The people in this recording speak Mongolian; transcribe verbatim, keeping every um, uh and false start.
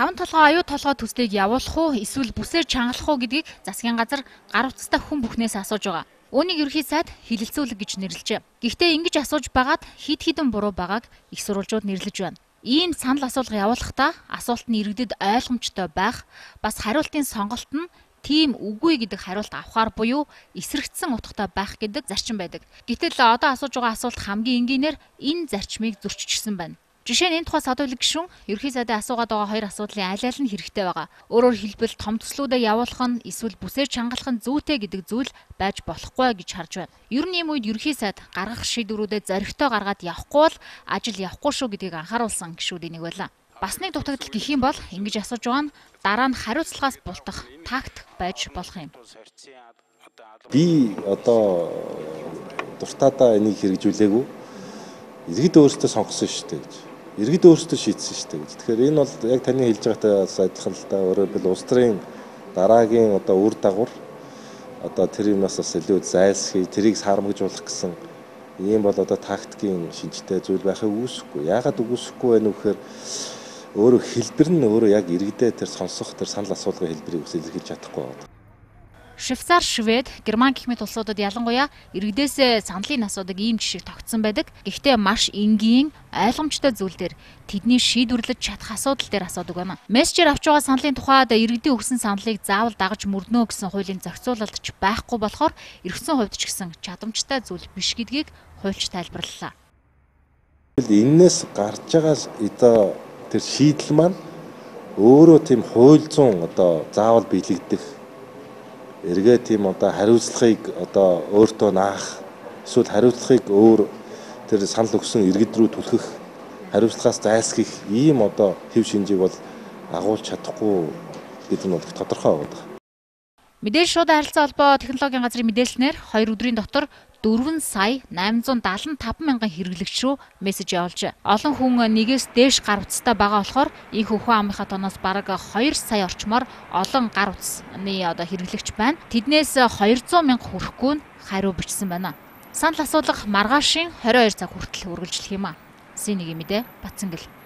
таван толгой аюу толгой төслийг явуулах уу эсвэл бүсээр чангалах уу гэдгийг засгийн газар гар утастай хүн бүхнээс асууж байгаа. Үүнийг ерхий сайд хилэлцүүлэг гэж нэрлэжээ. Гэхдээ ингэж асууж байгаад хид хідэн буруу байгааг их сурвалжууд нэрлэж байна. Ийм санал асуулга явуулахдаа асуулт нь иргэдэд ойлгомжтой байх, бас хариултын сонголт нь тийм үгүй гэдэг хариулт авахар буюу эсрэгцсэн утгатай байх гэдэг зарчим байдаг. Гэтэл одоо асууж байгаа асуулт хамгийн энгийнээр энэ зарчмыг зөрчижсэн байна. Жишээ нь энэ тухай садуулаг гишүүн ерхий сайдын асуугаад байгаа хоёр асуудлын аль аль нь хэрэгтэй байгаа. Өөрөөр хэлбэл том төслүүдэд явуулах нь эсвэл бүсээр чангалах нь зүйтэй гэдэг зүйл байж болохгүй гэж харж байна. Ер нь ийм үед ерхий сайд гаргах шийдвэрүүдэд зоригтой гаргаад явахгүй бол ажил явахгүй шүү гэдгийг анхааруулсан гишүүдийн нэг байлаа. Бас нэг дутагдал гэх юм бол ингэж асууж байгаа нь дараа нь хариуцлагаас бултах тактик байж болох юм. Би одоо дуртаадаа энийг хэрэгжүүлээгүй. Иргэд өөрсдөө сонгосон шүү дээ гэж. Иргэд өөрсдөө шийдсэн шүү дээ гэж. Тэгэхээр энэ бол яг таны хэлж байгаатай адилхан л да. Өөрөөр хэлбэл улс төрийн дараагийн одоо үр дагавар одоо тэр юмнаас бас илүү зайлсхий, тэрийг сармагжуулах гэсэн ийм бол одоо тактикийн шинжтэй зүйл байхыг үгүйсэхгүй. Яагаад үгүйсэхгүй вэ нөхөр өөрөө хэлбэр нь өөрөө яг иргэдээ тэр сонсох тэр санал асуулгын хэлбэрийг ус илэрхийлж чадахгүй байна. Швейцар, Швед, Герман гэх мэт улсуудад ялангуяа иргэдээсээ саналын асуудаг ийм жишээ тогтсон байдаг. Гэхдээ маш энгийн, ойлгомжтой зүйл дээр тэдний шийдвэрлэж чадах асуудал дээр асуудаг байна. Мессежээр авч байгаа саналын тухайд иргэдийн өгсөн саналыг заавал дагаж мөрднө гэсэн хуулийн зохицуулалт ч байхгүй болохоор эргэсэн хувьд ч гэсэн чадамжтай зүйл биш гэдгийг хуульч тайлбарлалаа. Эннээс гарч байгаа одоо тэр шийдэл маань өөрөө тийм хууль зүйн одоо заавал биелэгдэх эргээ тийм одоо хариуцлагыг одоо өөртөө наах эсвэл хариуцлагыг өөр тэр санал өгсөн иргэд рүү түлхэх хариуцлагаас зайлсхийх ийм одоо хэв шинжийг бол агуулж чадахгүй гэдэг нь бол тодорхой байна. Мэдээж шууд харилцаа холбоо технологийн газрын мэдээлснээр хоёр өдрийн дотор дөрвөн сая найман зуун даалан таван мянган хэрэглэгч рүү мессеж явуулжээ. Олон хүн нэгээс дээш гар утастай байгаа болохоор их хөхөн амынхаа тоноос бараг хоёр сая орчмоор олон гар утасны одоо хэрэглэгч байна. Тэднээс хоёр зуун мянга хүрэхгүй нь хариу бичсэн байна. Санал асуулга маргаашийн хорин хоёр цаг хүртэл үргэлжлэх юм а. Синийг мэдээ Батцангэл.